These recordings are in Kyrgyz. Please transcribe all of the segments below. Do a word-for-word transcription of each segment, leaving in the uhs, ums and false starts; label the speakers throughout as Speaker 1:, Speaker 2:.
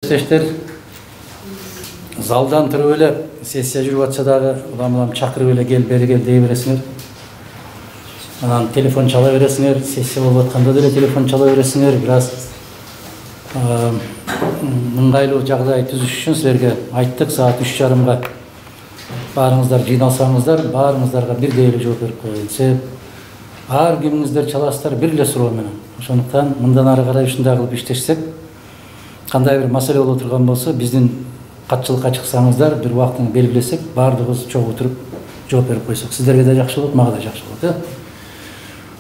Speaker 1: Тештер залдан туруп эле сессия жүрүп атса дагы улам-улам чакырып эле кел бери кел дей бересиңер. Анан телефон чала бересиңер, сессия болуп атканда деле телефон чала бересиңер. Бир аз ыңгайлуу жагдай түзүш үчүн силерге айттык, саат үч жарымга баарыңыздар жыйналсаңыздар, баарыңыздарга бирдей эле жооп берип коеюн. Себеп ар кимиңиздер чаласыздар бир эле суроо менен. Ошондуктан мындан ары карай ушундай кылып иштешсек, кандай бир маселе боло турган болсо, биздин катчылыкка чыксаңыздар, бир убактын белгилесек, баардыгыбыз чогуу туруп жооп берип койсок, сиздерге да жакшы болот, мага да жакшы болот, э?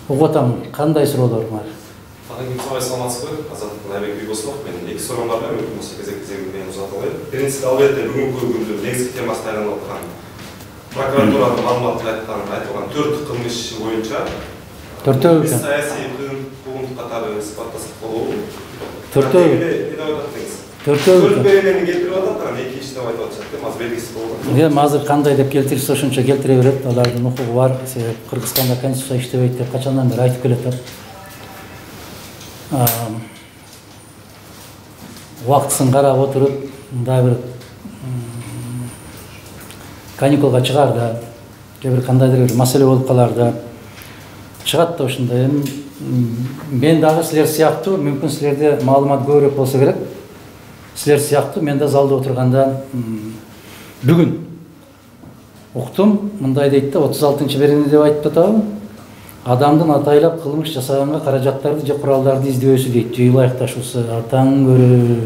Speaker 1: Угуп атам, кандай суроолор бар?
Speaker 2: Агенттик саламатсызбы? Азаттык Айбек Бийбосов. Мен эки суроом бар, мүмкүн болсо кезек-кезегинен менен узатып алайын. Биринчиси, албетте бүгүнкү күндүн негизги темасына айланып аткан прокуратуранын маалыматында айткан айтылган төрт кылмыш иши боюнча
Speaker 1: төртөө
Speaker 2: биз саясий куугунтук катары сыпаттасак болобу?
Speaker 1: Төртөө. Төртөө.
Speaker 2: Төрт беренени келтирип атат, анан эки иш деп айтып атышат, эми азыр белгисиз болду.
Speaker 1: Эми азыр кандай деп келтирсе ошончо келтире берет, алардын укугу бар. Себеп Кыргызстанда конституция иштебейт деп качандан бери айтып келет. Убактысын карап отуруп, мындай бир каникулга чыгаарда, же бир кандайдыр бир маселе болуп калаарда чыгат да ошондой. Эми мен дагы силер сыяктуу, мүмкүн силерде маалымат көбүрөөк болсо керек. Силер сыяктуу мен да залда отурганда бүгүн уктум, мындай дейт да, отуз алтынчы берени деп айтып атабы? Адамдын атайлап кылмыш жасаганга каражаттарды же куралдарды издөөсү дейт. Же ылайыкташуусу атаң көрө.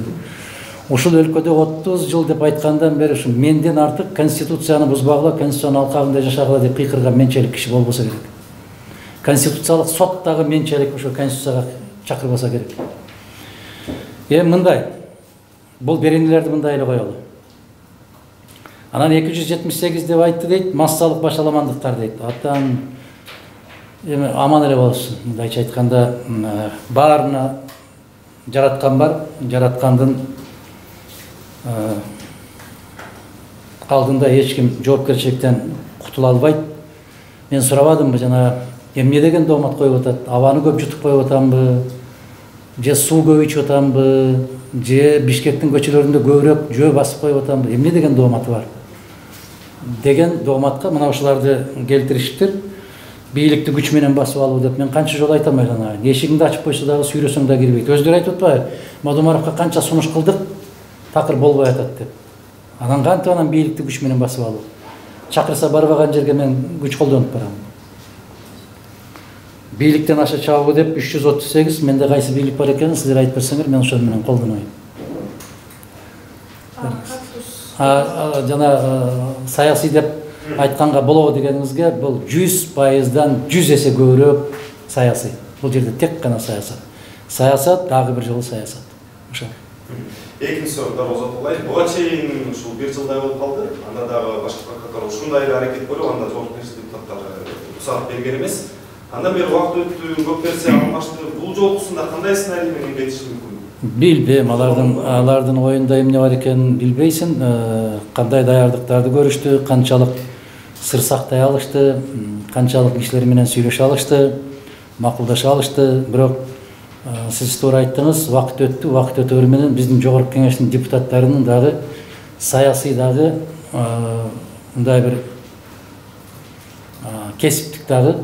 Speaker 1: Ушул өлкөдө отуз жыл деп айткандан бери ушу менден артык конституцияны бузбагыла, конституциянын алкагында жашагыла деп кыйкырган менчелик киши болбосо керек. Конституциялык сот дагы менчелик ошо конституцияга чакырбаса керек. Эми мындай, бул беренелерди мындай эле коелу. Анан эки жүз жетимиш сегиз деп айтты дейт, массалык башаламандыктар дейт. Атаң эми аман эле болсун. Мындайча айтканда, баарына жараткан бар, жараткандын алдында эч ким жоопкерчиликтен кутула албайт. Мен сурабадымбы жана эмне деген доомат коюп атат? Абаны көп жутуп коюп атамбы? Же суу көп ичип атамбы? Же Бишкектин көчөлөрүндө көбүрөөк жөө басып коюп атамбы? Эмне деген дооматы бар? Деген дооматка мына ушуларды келтиришиптир. Бийликти күч менен басып алуу деп мен канча жолу айтам айланайын. Эшигиңди ачып койсо дагы сүйрөсөң да кирбейт. Өздөрү айтып атпайбы? Мадумаровго канча сунуш кылдык, такыр болбой атат деп. Анан кантип анан бийликти күч менен басып алуу? Чакырса барбаган жерге мен күч колдонуп барам. Бийликтен аша чабуу деп үч жүз отуз сегиз, менде кайсы бийлик бар экенин сиздер айтып берсеңер, мен ошол менен колдонойм. А жана саясий деп айтканга болобу дегениңизге, бул жүз пайыздан жүз эсе көбүрөөк саясий. Бул жерде тек гана саясат. Саясат дагы бир жолу саясат. Ошо.
Speaker 2: Экинчи суроо узатып алайын. Буга чейин ушул бир жылдай болуп калды. Анда дагы башка прокуратура ушундай эле аракет көрүп, анда жоопкерчилик депутаттар уруксат берген эмес. Андан бери убакыт өттү, көп нерсе алмашты. Бул жолкусунда кандай сценарий менен кетиши мүмкүн?
Speaker 1: Билбейм, алардын алардын оюнда эмне бар экенин билбейсиң. Кандай даярдыктарды көрүштү, канчалык сыр сактай алышты, канчалык кишилер менен сүйлөшө алышты, макулдаша алышты. Бирок сиз туура айттыңыз, убакыт өттү, убакыт өтөөрү менен биздин жогорку кеңештин депутаттарынын дагы саясий дагы мындай бир кесиптик дагы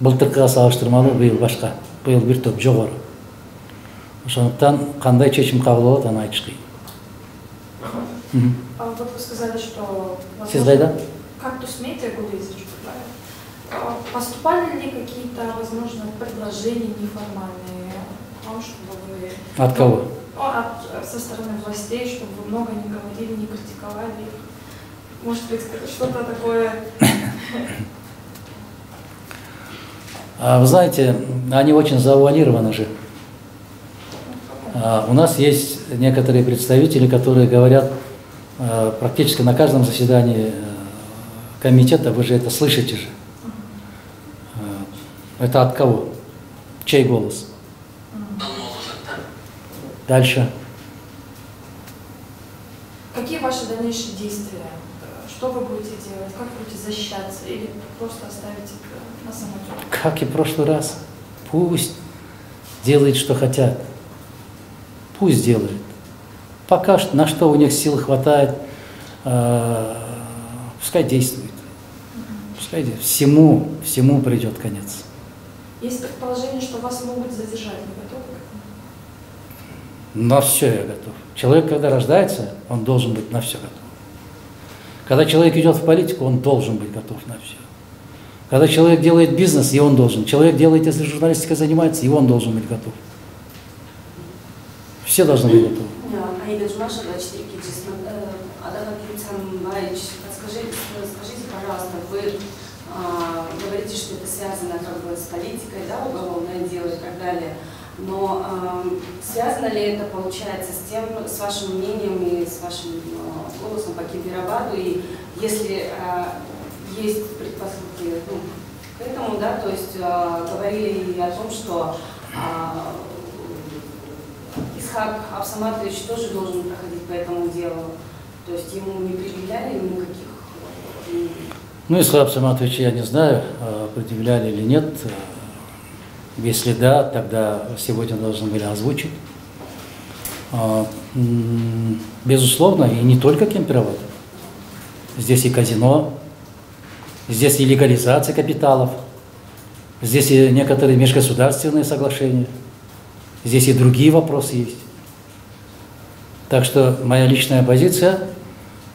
Speaker 1: былтыркыга салыштырмалуу быйыл башка, быйыл бир топ жогору. Ошондуктан кандай чечим кабыл болот, аны айтыш кыйын.
Speaker 3: Вот вы сказали, что
Speaker 1: Сиз кайда?
Speaker 3: Кактус Медиа годы поступали ли какие-то, возможно, предложения неформальные о том, чтобы вы...
Speaker 1: От кого?
Speaker 3: От, со стороны властей, чтобы вы много не говорили, не критиковали их? Может быть, что-то такое...
Speaker 1: Вы знаете, они очень завуалированы же. У нас есть некоторые представители, которые говорят практически на каждом заседании комитета, вы же это слышите же. Это от кого? Чей голос? Дальше.
Speaker 3: Какие ваши дальнейшие действия? Что вы будете делать? Как будете защищаться? Или просто оставите на самотек?
Speaker 1: Как и в прошлый раз. Пусть делают, что хотят. Пусть делают. Пока что, на что у них сил хватает, пускай действует. Пускай всему, всему придет конец.
Speaker 3: Есть предположение, что вас могут задержать, вы готовы?
Speaker 1: На все я готов. Человек, когда рождается, он должен быть на все готов. Когда человек идет в политику, он должен быть готов на все. Когда человек делает бизнес, и он должен. Человек делает, если журналистикой занимается, и он должен быть готов. Все должны быть готовы.
Speaker 4: Аида Джумашева, четыре Киджис. Адам Акимцамбаевич, скажите, скажите, пожалуйста, вы а, говорите, что это связано как бы с политикой, да, уголовное дело и так далее. Но а, связано ли это, получается, с тем, с вашим мнением и с вашим а, голосом по Кемпирабаду? И если а, есть предпосылки ну, к этому, да, то есть а, говорили о том, что а, Исхак Абсаматович тоже должен проходить по этому делу, то есть ему не предъявляли никаких...
Speaker 1: Ну, Исхак Абсаматович, я не знаю, предъявляли или нет. Если да, тогда сегодня должны были озвучить. Безусловно, и не только Кемпирабад. Здесь и казино, здесь и легализация капиталов, здесь и некоторые межгосударственные соглашения, здесь и другие вопросы есть. Так что моя личная позиция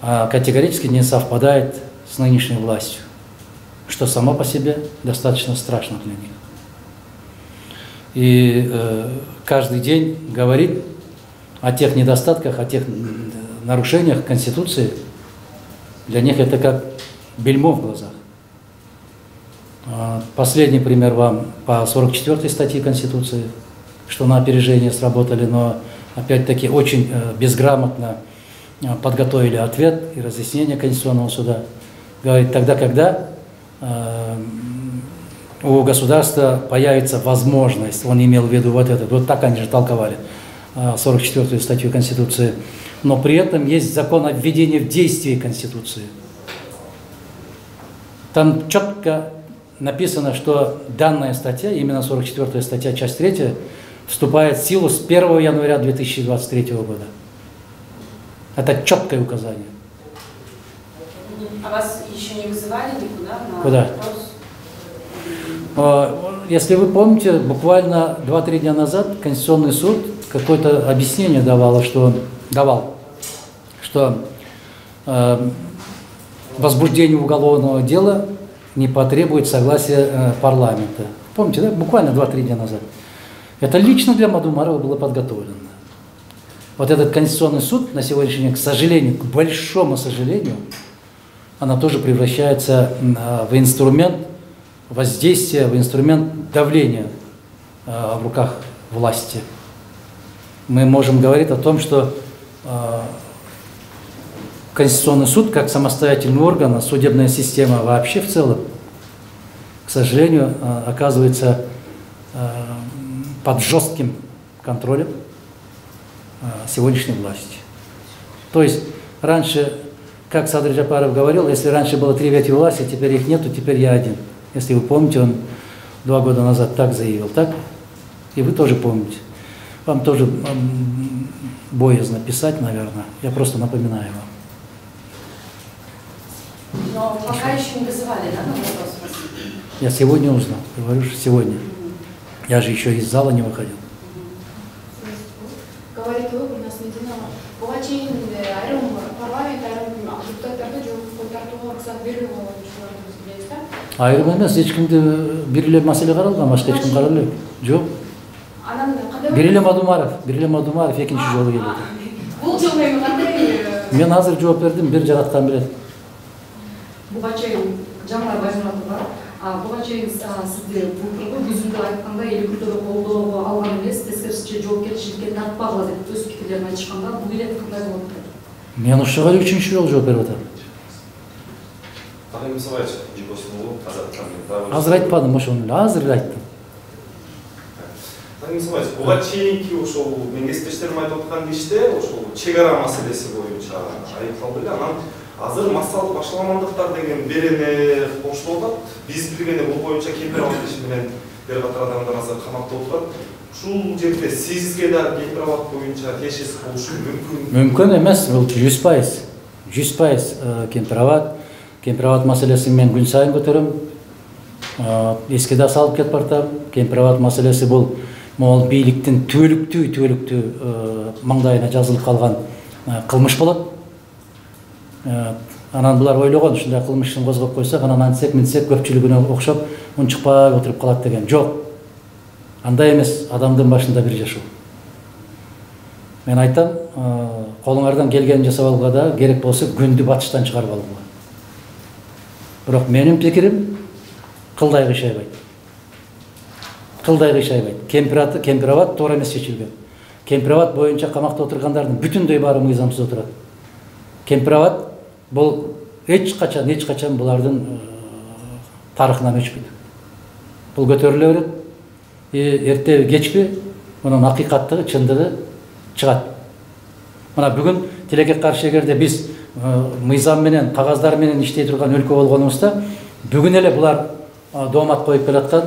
Speaker 1: категорически не совпадает с нынешней властью, что само по себе достаточно страшно для них. И э, каждый день говорит о тех недостатках, о тех нарушениях Конституции, для них это как бельмо в глазах. Последний пример вам по сорок четвёртой статье Конституции, что на опережение сработали, но опять-таки очень э, безграмотно э, подготовили ответ и разъяснение Конституционного суда. Говорит, тогда, когда э, у государства появится возможность, он имел в виду вот это, вот так они же толковали э, сорок четвёртую статью Конституции, но при этом есть закон о введении в действие Конституции. Там четко написано, что данная статья, именно сорок четвёртая статья, часть третья, вступает в силу с первого января две тысячи двадцать третьего года. Это четкое указание.
Speaker 4: А вас еще не вызывали никуда? На
Speaker 1: Куда? Вопрос? Если вы помните, буквально два-три дня назад Конституционный суд какое-то объяснение давал, что, давал, что э, возбуждение уголовного дела не потребует согласия э, парламента. Помните, да? Буквально два-три дня назад. Это лично для Мадумарова было подготовлено. Вот этот Конституционный суд на сегодняшний день, к сожалению, к большому сожалению, она тоже превращается в инструмент воздействия, в инструмент давления в руках власти. Мы можем говорить о том, что Конституционный суд, как самостоятельный орган, судебная система вообще в целом, к сожалению, оказывается под жестким контролем сегодняшней власти. То есть раньше, как Садыр Джапаров говорил, если раньше было три ветви власти, теперь их нету, теперь я один. Если вы помните, он два года назад так заявил, так? И вы тоже помните. Вам тоже боязно писать, наверное. Я просто напоминаю вам.
Speaker 4: Но пока еще не вызывали, да, на вопрос?
Speaker 1: Я сегодня узнал, говорю, что сегодня. Я же еще из зала не выходил.
Speaker 5: Говорит, вы у нас Медина. Богачей, айрым, парламент, айрым, депутаттарды жоқ тартууга уруксат берилбеген болушуларды билебиз да?
Speaker 1: Айрым эмес, эч кимди бир эле маселе каралган, башка эч ким каралбай элек. Жок.
Speaker 5: Анан кандай?
Speaker 1: Бир эле Мадумаров, бир эле Мадумаров экинчи жолу келет.
Speaker 5: Бул жолу эми кандай?
Speaker 1: Мен азыр жооп бердим, бир жараткан билет.
Speaker 6: Буга чейин Жамал Байжанатова, буга чейин сизди былтыркы күзүндө айтканда эл күрдөгө колдоого алган эмес, тескерисинче жоопкерчиликке тартпагыла деп өз пикирлерин айтышканда, бул билет кандай болот?
Speaker 1: Мен ушуга эле үчүнчү жолу жооп берип атам.
Speaker 2: Калай Мусабаевич, жибосуну азат
Speaker 1: Азыр айтпадым ошону эле, азыр айттым.
Speaker 2: Калай Мусабаевич, буга чейинки ошол менин кесиптештерим айтып аткан иште ошол чек ара маселеси боюнча айыпталды эле. Анан азыр массалык башаламандыктар деген берене коштолуп атат. Биз билгенде бул боюнча Кемпирабад иши менен бир катар адамдар азыр камакта отурат. ушул жерде сизге да кемпирабад боюнча тиешеси болушу мүмкүн?
Speaker 1: Мүмкүн эмес, бул жүз пайыз. жүз пайыз кемпирабад. Кемпирабад маселесин мен күн сайын көтөрөм. Эске да салып кетип бартам. Кемпирабад маселеси бул могул бийликтин түбөлүктүү түбөлүктүү маңдайына жазылып калган кылмыш болот. Анан булар ойлогон ушундай кылмышын козгоп койсок, анан антсек минтсек көпчүлүгүнө окшоп унчукпай отуруп калат деген. Жок. Андай эмес, адамдын башында бир жашоо. Мен айтам, колуңардан келгенин жасап алууга да керек болсо күндү батыштан чыгарып алууга. Бирок менин пикирим кылдай кыйшайбайт. Кылдай кыйшайбайт. Кемпирабад, Кемпирабад туура эмес чечилген. Кемпирабад боюнча камакта отургандардын бүтүндөй баары мыйзамсыз отурат. Кемпирабад бул эч качан, эч качан булардын тарыхынан өчпөйт. Бул көтөрүлө берет. Эртеби кечпи мунун акыйкаттыгы, чындыгы чыгат. Мына бүгүн тилекке каршы эгерде биз мыйзам менен, кагаздар менен иштей турган өлкө болгонубузда, бүгүн эле булар доомат коюп келаткан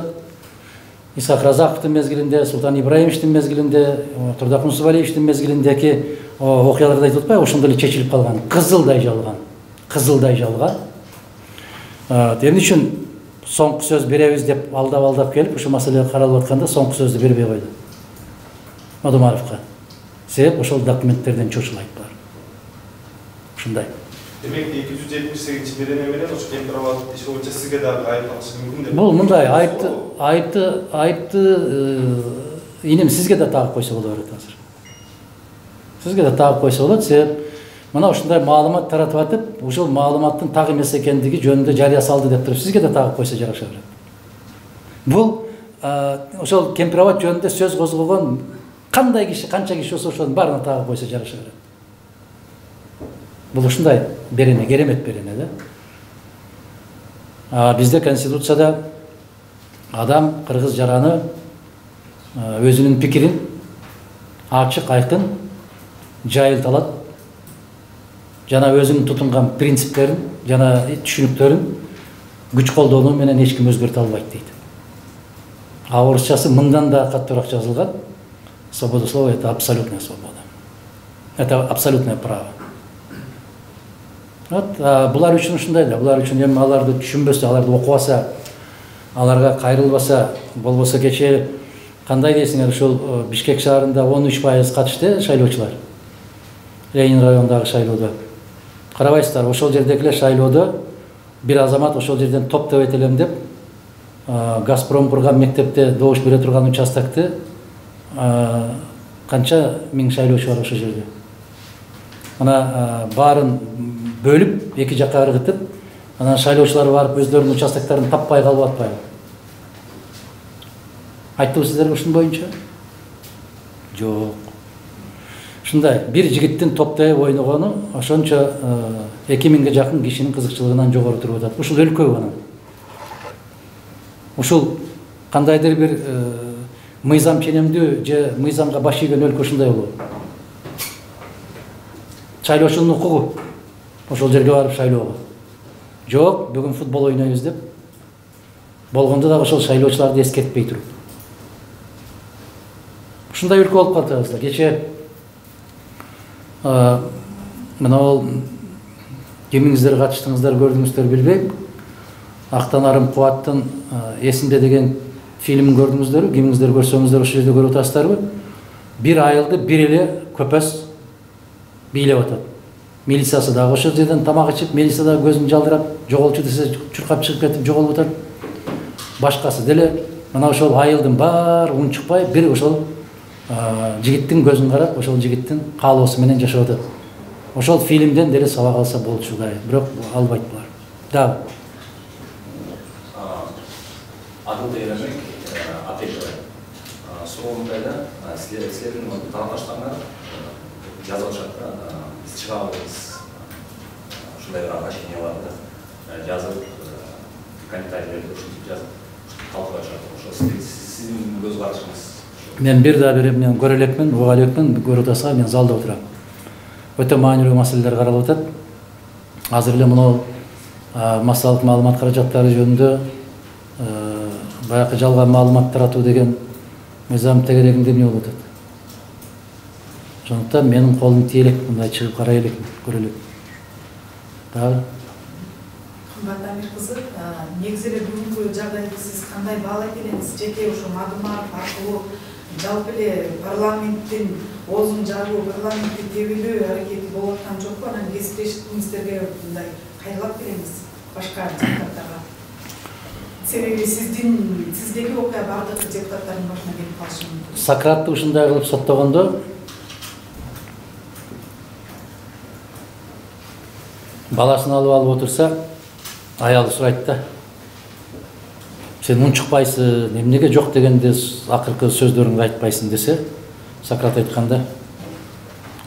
Speaker 1: Исхак Разаковдун мезгилинде, Султан Ибраимовичтин мезгилинде, Турдак Мусубалиевичтин мезгилиндеги окуяларды айтып атпайбы, ошондой эле чечилип калган, кызылдай жалган, кызылдай жалган. Эмне үчүн соңку сөз беребиз деп алдап-алдап келип, ушу маселе каралып атканда соңку сөздү бербей койду Мадумаровго. Себеп ошол документтерден чочулайт бар. Ушундай.
Speaker 2: Демек эки жүз жетимиш сегизинчи береме менен ошо Кемпирабад иши боюнча сизге дагы айып тагышы мүмкүн деп.
Speaker 1: Бул мындай айыпты, айыпты, айыпты инем сизге да тагып койсо болот азыр. Сизге да тагып койсо болот, себеп мына ушундай маалымат таратып атып, ушул маалыматтын так эмес экендиги жөнүндө жарыя салды деп туруп сизге да тагып койсо жараша берет. Бул ошол Кемпирабад жөнүндө сөз козгогон кандай киши, канча киши болсо ошонун баарына тагып койсо жараша берет. Бул ушундай берене, керемет берене да. Бизде Конституцияда адам кыргыз жараны өзүнүн пикирин ачык, айкын жайылталат. Жана өзүнүн тутунган принциптерин, жана түшүнүктөрүн күч колдонуу менен эч ким өзгөртө албайт дейт. А орусчасы мындан да каттуураак жазылган. Свобода слова — это абсолютная свобода. Это абсолютное право. Вот, булар үчүн ушундай да, булар үчүн эми аларды түшүнбөсө, аларды окубаса, аларга кайрылбаса, болбосо кечээ кандай дейсиңер, ушул Бишкек шаарында он үч пайыз катышты шайлоочулар. Ленин районундагы шайлоодо. Карабайсыздар, ошол жердегилер шайлоодо бир азамат ошол жерден топтоп этелем деп, Газпром курган мектепте добуш бере турган участокты канча миң шайлоочу бар ошол жерде. Ана баарын бөлүп, эки жакка ыргытып, анан шайлоочулар барып өздөрүнүн участоктарын таппай калып атпайбы? Айттыбы сиздерге ушун боюнча? Жок. Ушундай бир жигиттин топтоп ойногону ошончо эки миңге жакын кишинин кызыкчылыгынан жогору туруп атат. Ушул өлкө анан. Ушул кандайдыр бир мыйзам ченемдүү же мыйзамга баш ийген өлкө ушундай болот. Шайлоочунун укугу ошол жерге барып шайлоого. Жок, бүгүн футбол ойнойбуз деп болгондо дагы ошол шайлоочуларды эскертпей туруп. Ушундай өлкө болуп калды. Кечээ мына ол кимиңиздер катыштыңыздар, көрдүңүздөр билбейм. Актанарым Кубаттын эсинде деген фильмин көрдүңүздөрбү? Кимиңиздер көрсөңүздөр ошол жерде көрүп атасыздарбы? Бир айылды бир эле көпөс бийлеп атат. Милициясы дагы ошол жерден тамак ичип, милиция дагы көзүн жалдырап, жоголчу десе чуркап чыгып кетип жоголуп атат. Башкасы деле мына ошол айылдын баары унчукпай бир ошол жигиттин көзүн карап, ошол жигиттин каалоосу менен жашап атат. Ошол фильмден деле сабак алса болчу да, бирок албайт булар. Да.
Speaker 7: Адыл Эремек, Атекова. Суроомдайда силердин тарапташтарыңар жазып атышат да, биз чыга албайбыз. Ушундай бир обращение бар да. Жазып, комментарийлерди ушинтип жазып, талкуулап атышат. Ошо сиздин көз карашыңыз.
Speaker 1: Мен бир да бир эмнени көрө элекмин, уга элекмин, көрүп атасыздар, мен залда отурам. Өтө маанилүү маселелер каралып атат. Азыр эле мына массалык маалымат каражаттары жөнүндө баягы жалган маалымат таратуу деген мыйзам тегерегинде эмне болуп атат. Ошондуктан менин колум тие элек, мындай чыгып карай элек, көрө элек. Дагы
Speaker 8: Кымбат Амир кызы, негизи эле бүгүнкү жагдайды сиз кандай баалайт элеңиз? Жеке ошо Мадумаров аркылуу жалпы эле парламенттин оозун жабуу, парламентти тебелөө аракети болуп аткан жокпу? Анан кесиптешиңиздерге мындай кайрылат береңиз башка депутаттарга. Себеби сиздин сиздеги окуя бардык депутаттардын башына келип калышы мүмкүн.
Speaker 1: Сократты ушундай кылып соттогондо баласын алып алып отурса, аялы сурайт да. Сен унчукпайсың, эмнеге жок дегенде акыркы сөздөрүңдү айтпайсың десе, Сократ айтканда,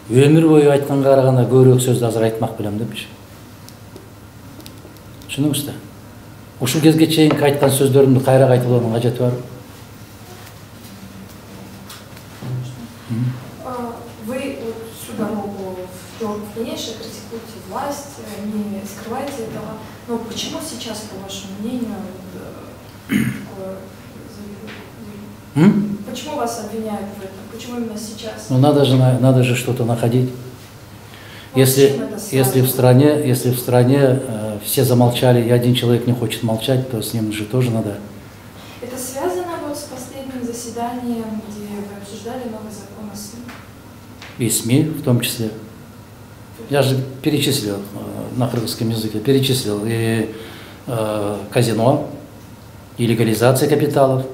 Speaker 1: өмүр бою айтканга караганда көбүрөөк сөздү азыр айтмак белем депчи. Түшүндүңүз да? Ушул кезге чейинки айткан сөздөрүмдү кайра кайталоонун кажети барбы?
Speaker 3: Вы вот всю дорогу в Жоркинеше критикуете власть, не скрываете этого. Но почему сейчас, по вашему мнению, такое заявление? Почему вас обвиняют в этом? Почему именно сейчас?
Speaker 1: Ну надо же, надо же что-то находить. Если, если в стране, если в стране э, все замолчали и один человек не хочет молчать, то с ним же тоже надо.
Speaker 3: Это связано вот с последним заседанием, где вы обсуждали новый закон о СМИ?
Speaker 1: И СМИ в том числе. Я же перечислил э, на кыргызском языке, перечислил и э, казино, и легализация капиталов.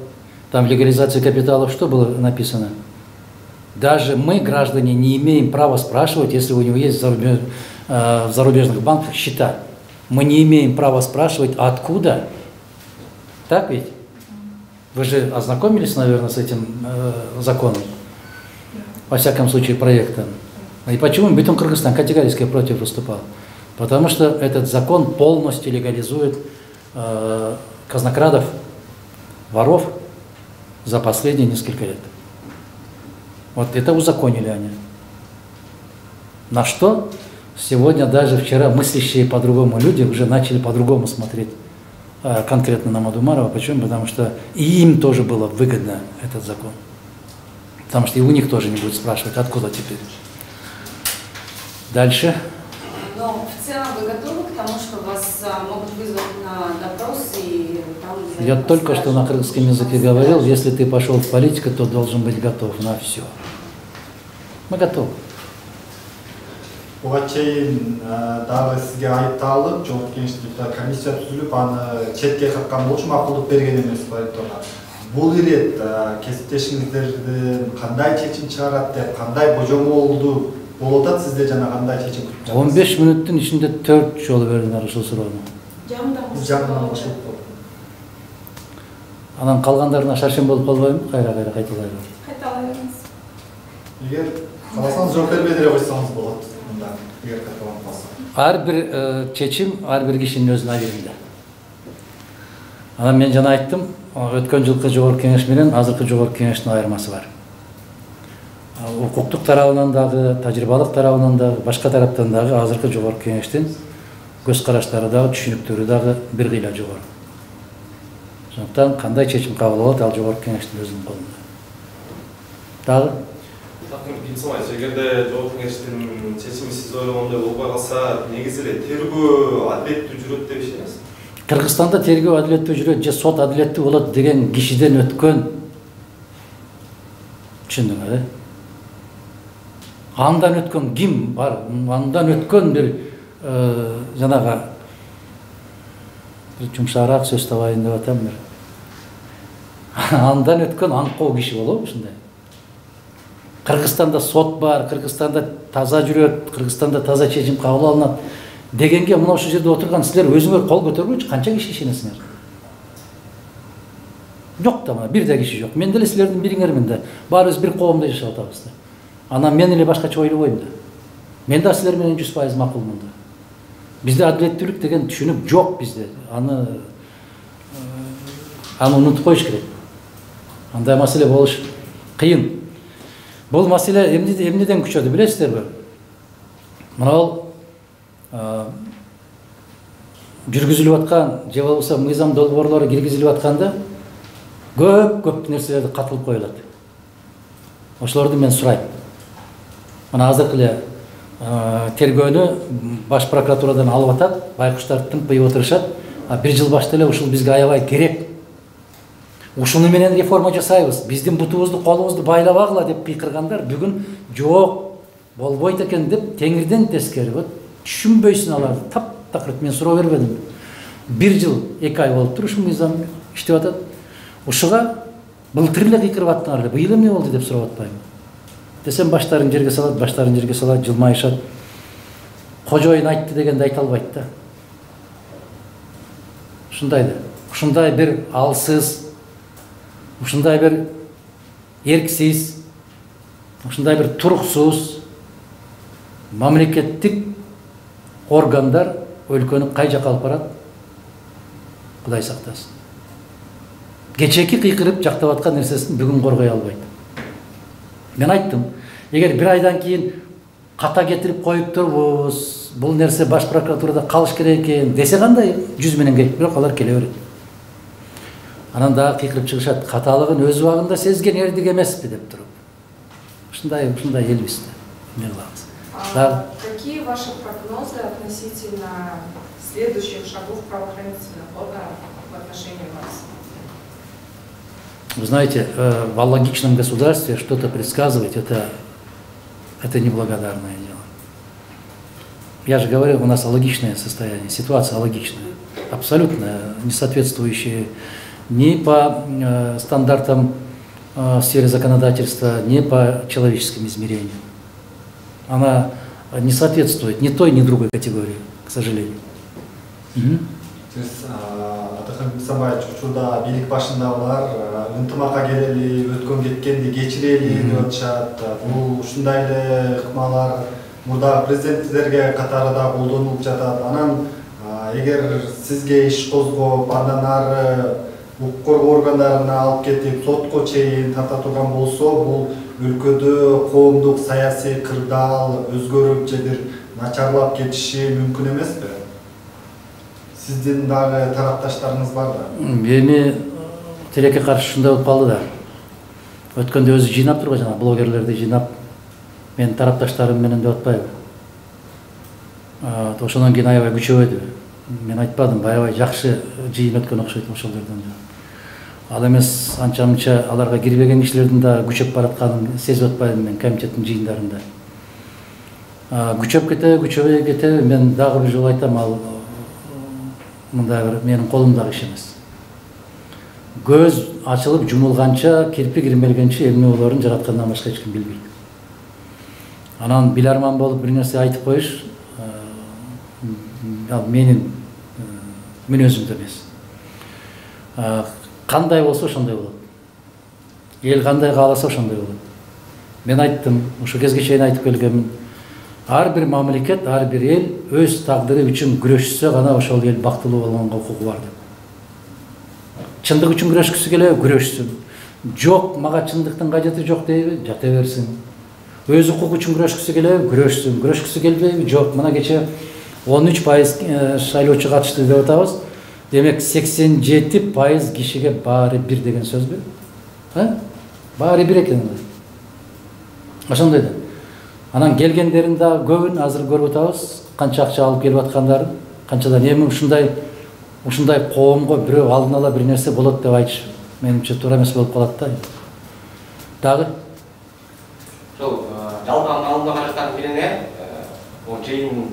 Speaker 1: Там в легализации капиталов что было написано? Даже мы, граждане, не имеем права спрашивать, если у него есть в, зарубеж... э, в зарубежных банках счета. Мы не имеем права спрашивать, откуда. Так ведь? Вы же ознакомились, наверное, с этим э, законом? Во всяком случае, проектом. И почему Бетон Кыргызстан категорически против выступал? Потому что этот закон полностью легализует э, казнокрадов, воров за последние несколько лет. Вот это узаконили они. На что сегодня даже вчера мыслящие по-другому люди уже начали по-другому смотреть э, конкретно на Мадумарова. Почему? Потому что и им тоже было выгодно этот закон. Потому что и у них тоже не будет спрашивать, откуда теперь. Дальше.
Speaker 4: Но в целом вы готовы к тому, что вас могут вызвать на допрос и там...
Speaker 1: Я только что на кыргызском языке говорил, если ты пошел в политику, то должен быть готов на все. Мы готовы.
Speaker 9: Буга чейин дагы сизге айыпталып, Жогорку Кеңештин комиссия түзүлүп, аны четке каккан болчу макулдук берген эмес айыптоого. Бул ирет кесиптешиңиздердин кандай чечим чыгарат деп, кандай божомолду болуп атат сизде жана кандай чечим күтүп жатасыз?
Speaker 1: он беш мүнөттүн ичинде төрт жолу бердиңер ушул суроону.
Speaker 8: Жамдан
Speaker 1: Анан калгандарына шаршем болуп калбайбы? Кайра-кайра кайталайбы.
Speaker 3: Кайталайбыз.
Speaker 9: Эгер кааласаңыз жооп бербей деле койсоңуз болот. Мында эгер кайталанып калса.
Speaker 1: Ар бир чечим ар бир кишинин өзүнүн абийиринде. Анан мен жана айттым, өткөн жылкы Жогорку Кеңеш менен азыркы Жогорку Кеңештин айырмасы бар. Укуктук тарабынан дагы, тажрыйбалык тарабынан дагы, башка тараптан дагы азыркы Жогорку Кеңештин көз караштары дагы, түшүнүктөрү дагы бир кыйла жогору. Ошондуктан кандай чечим кабыл алат, ал Жогорку Кеңештин өзүнүн колунда. Дагы
Speaker 2: эгерде Жогорку Кеңештин чечими сиз ойлогондой болбой калса, негизи эле тергөө адилеттүү жүрөт деп ишенесизби?
Speaker 1: Кыргызстанда тергөө адилеттүү жүрөт же сот адилеттүү болот деген кишиден өткөн. Түшүндүңөр, э? Андан өткөн ким бар? Андан өткөн бир жанагы жумшараак сөз табайын деп атам мен. Андан өткөн аңкоо киши болобу ушундай? Кыргызстанда сот бар, Кыргызстанда таза жүрөт, Кыргызстанда таза чечим кабыл алынат дегенге мына ушул жерде отурган силер өзүңөр кол көтөргүчү канча киши ишенесиңер? Жок да, мына бир да киши жок. Мен деле силердин бириңермин да. Баарыбыз бир коомдо жашап атабыз да. Анан мен эле башкача ойлобойм да. Мен да силер менен жүз пайыз макулмун да. Бизде адилеттүүлүк деген түшүнүк жок бизде. Аны аны унутуп коюш керек. Андай маселе болуш кыйын. Бул маселе эмнеден күчөдү билесиздерби? Мына жүргүзүлүп аткан же болбосо мыйзам долбоорлору киргизилип атканда көп-көп нерселер катылып коюлат. ошолорду мен сурайм. Мына азыркы эле тергөөнү баш прокуратурадан алып атат, байкуштар тымпыйып отурушат. А бир жыл башта эле ушул бизге аябай керек. Ушуну менен реформа жасайбыз. Биздин бутубузду, колубузду байлабагыла деп кыйкыргандар бүгүн жок, болбойт экен деп теңирден тескери. Вот түшүнбөйсүн аларды. Таптакыр мен суроо бербедим. Бир жыл, эки ай болуптур ушул мыйзам иштеп атат. Ушуга былтыр эле кыйкырып аттыңар, быйыл эмне болду деп сурап атпаймынбы? Десем баштарын жерге салат, баштарын жерге салат, жылмайышат. Кожоюн айтты дегенди айта албайт да. Ушундай да. Ушундай бир алсыз, ушундай бир эрксиз, ушундай бир туруксуз мамлекеттик органдар өлкөнү кай жакка алып барат? Кудай сактасын. Кечеки кыйкырып жактап аткан нерсесин бүгүн коргой албайт. Мен айттым, эгер бир айдан кийин ката кетирип коюп турбуз, бул нерсе баш прокуратурада калыш керек экен десе кандай? Жүз менен келип, бирок алар келе берет. Анан дагы кыйкырып чыгышат, каталыгын өз убагында сезген эрдик эмеспи деп туруп. Ушундай, ушундай элбиз да. Эмне кылабыз?
Speaker 3: Какие ваши прогнозы относительно следующих шагов правоохранительных органов в отношении вас?
Speaker 1: Вы знаете, в алогичном государстве что-то предсказывать, это, это неблагодарное дело. Я же говорю, у нас алогичное состояние, ситуация алогичная, абсолютно не соответствующая ни по э, стандартам э, в сфере законодательства, ни по человеческим измерениям. Она не соответствует ни той, ни другой категории, к сожалению. Угу.
Speaker 9: Атакан Бисамбаевич, учурда бийлик башындагылар ынтымакка келели, өткөн кеткенди кечирели деп атышат. Бул ушундай эле ыкмалар мурдагы президенттерге катары да колдонулуп жатат. Анан эгер сизге иш козгоп, андан ары укук коргоо органдарына алып кетип, сотко чейин тарта турган болсо, бул өлкөдө коомдук саясий кырдаал өзгөрүп же бир начарлап кетиши мүмкүн эмеспи? Сиздин дагы тарапташтарыңыз бар да?
Speaker 1: Эми тилекке каршы ушундай болуп калды да. Өткөндө өзү жыйнап турган жана блогерлерди жыйнап, мен тарапташтарым менен деп атпайбы. Ошондон кийин аябай күчөбөдү. Мен айтпадым, аябай жакшы жыйын өткөн окшойт ошол жерден. Ал эмес анча-мынча аларга кирбеген кишилердин да күчөп баратканын сезип атпаймынбы мен комитеттин жыйындарында. Күчөп кете, күчөбөй кете, мен дагы бир жолу айтам, ал мындай бир менин колумдагы иш эмес. Көз ачылып жумулганча, кирпи кирмелгенче эмне болоорун жараткандан башка эч ким билбейт. Анан биларман болуп бир нерсе айтып коюш ал менин мүнөзүмдө эмес. Кандай болсо ошондой болот. Эл кандай кааласа ошондой болот. Мен айттым, ошо кезге чейин айтып келгенмин. Ар бир мамлекет, ар бир эл өз тагдыры үчүн күрөшсө гана ошол эл бактылуу болгонго укугу бар деп. Чындык үчүн күрөшкүсү келеби, күрөшсүн. Жок, мага чындыктын кажети жок дейби, жата берсин. Өз укугу үчүн күрөшкүсү келеби, күрөшсүн. Күрөшкүсү келбейби, жок. Мына кече он үч пайыз шайлоочу катышты деп атабыз. Демек сексен жети пайыз кишиге баары бир деген сөзбү? А? Баары бир экен. Ошондой да. Анан келгендерин да көбүн азыр көрүп атабыз, канча акча алып келип аткандарын, канчадан эми ушундай ушундай коомго бирөө алдын ала бир нерсе болот деп айтыш менимче туура эмес болуп калат да. Дагы
Speaker 10: ошол жалпы алдында караштардын бирине бул жыйын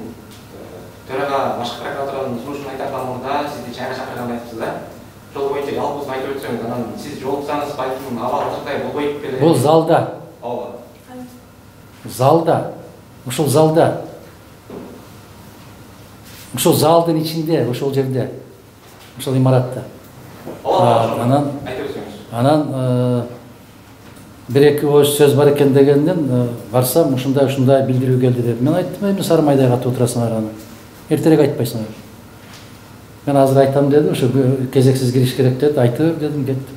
Speaker 10: төрага башкы прокуратуранын сунушун айтардан мурда сизди чайга чакырганын айтыпсыз да. Ошол боюнча жалпысын айтып өтсөңүз, анан сиз жолуксаңыз балким абал ушундай болбойт беле.
Speaker 1: Бул залда.
Speaker 10: Ооба.
Speaker 1: Залда. Ушул залда. Ушул залдын ичинде, ошол жерде. Ошол имаратта.
Speaker 10: Ооба.
Speaker 1: Анан
Speaker 10: айтып өтсөңүз.
Speaker 1: Анан бир эки ооз сөз бар экен дегенден барсам ушундай ушундай билдирүү келди деп. Мен айттым, эми Сарымайдай катып отурасыңар аны. Эртерээк айтпайсыңар. Мен азыр айтам деди, ошо кезексиз кириш керек деди, айтып дедим, кетти.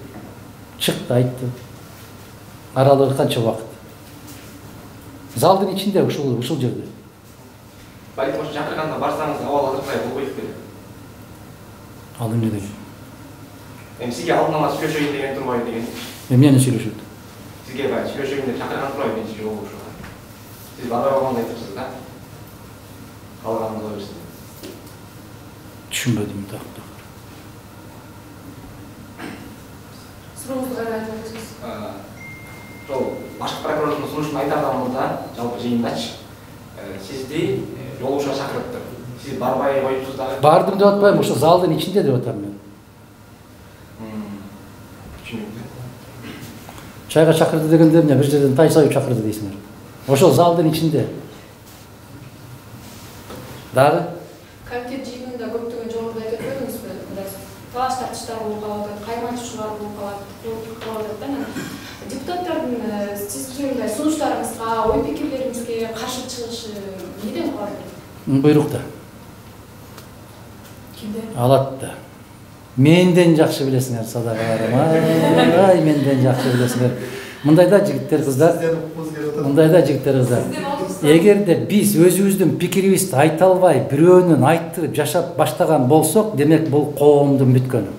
Speaker 1: Чыкты, айтты. Аралыгы канча убакыт? Залдын ичинде, ушул ушул жерде.
Speaker 10: Балким ошо чакырганда барсаңыз абал азыркай болбойт беле.
Speaker 1: Ал эмне деген?
Speaker 10: Эми сизге алдын ала сүйлөшөйүн деген турбайбы деген?
Speaker 1: Эмнени сүйлөшөт?
Speaker 10: Сиз сизге баягы сүйлөшүүгө чакырган турбайбы биринчи жолу ушуга? Сиз барбай койгонду айтыпсыз да? Калганын кыла берсин.
Speaker 1: Түшүнбөдүм да.
Speaker 5: Сурооңузду кайра айтып өтсөңүз.
Speaker 10: Ошол башкы прокурордун сунушун айтардан мурда жалпы жыйындачы сизди жолугушууга чакырыптыр. Сиз барбай коюпсуз дагы.
Speaker 1: Бардым деп атпайм, ошо залдын ичинде деп атам мен.
Speaker 10: Түшүнүктүү.
Speaker 1: Чайга чакырды дегенде эмне бир жерден тай саюп чакырды дейсиңер. Ошол залдын ичинде. Дагы
Speaker 5: Комитет жыйынында көптөгөн жогоруда айтып өтпөдүңүзбү? Талаш тартыштар болуп калат, кайманчуулар болуп калат, кылып атат. Депутаттардын сиздин мындай сунуштарыңызга, ой пикирлериңизге каршы чыгышы эмнеден калат?
Speaker 1: Буйрукта.
Speaker 3: Кимден?
Speaker 1: Алат да. Менден жакшы билесиңер садакаларым. Ай, менден жакшы билесиңер. Мындайда жигиттер, кыздар, мындайда жигиттер, кыздар. Эгерде биз өзүбүздүн пикирибизди айта албай, бирөөнүн айттырып жашап баштаган болсок, демек бул коомдун бүткөнү.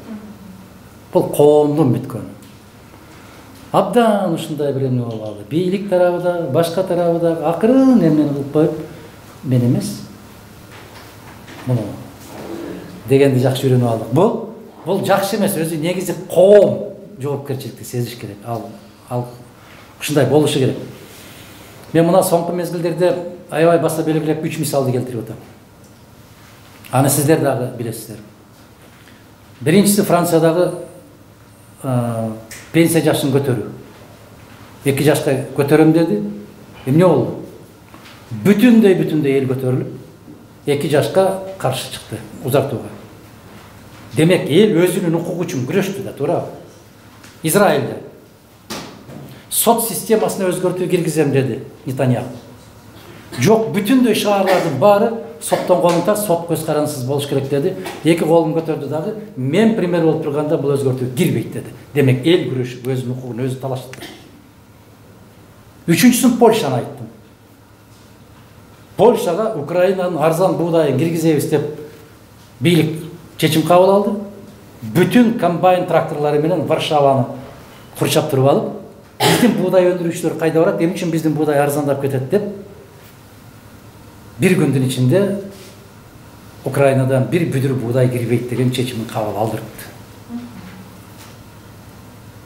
Speaker 1: Бул коомдун бүткөнү. Абдан ушундай бир эме болуп калды. Бийлик тарабы да, башка тарабы да акырын эмнени кылып коюп, мен эмес. Муну дегенди жакшы үйрөнүп алдык. Бул бул жакшы эмес, өзү негизи коом жоопкерчиликти сезиш керек. Ал ал ушундай болушу керек. Мен мына соңку мезгилдерде аябай баса белгилеп үч мисалды келтирип атам. Аны сиздер дагы билесиздер. Биринчиси Франциядагы пенсия жашын көтөрүү. эки жашка көтөрөм деди. Эмне болду? Бүтүндөй бүтүндөй эл көтөрүлүп, эки жашка каршы чыкты узартууга. Демек, эл өзүнүн укугу үчүн күрөштү да, туурабы? Израилде сот системасына өзгөртүү киргизем деди Нетаньяху. Жок, бүтүндөй шаарлардын баары соттон колун тарт, сот көз карансыз болуш керек деди. Эки колун көтөрдү дагы, мен пример болуп турганда бул өзгөртүү кирбейт деди. Демек, эл күрөшүп, өзүнүн укугун өзү талашты. Үчүнчүсүн Польшаны айттым. Польшага Украинанын арзан буудайын киргизебиз деп бийлик чечим кабыл алды. Бүтүн комбайн тракторлору менен Варшаваны курчап туруп алып, биздин буудай өндүрүүчүлөр кайда барат, эмне үчүн биздин буудай арзандап кетет деп бир күндүн ичинде Украинадан бир бүдүр буудай кирбейт деген чечимин кабыл алдырыпты.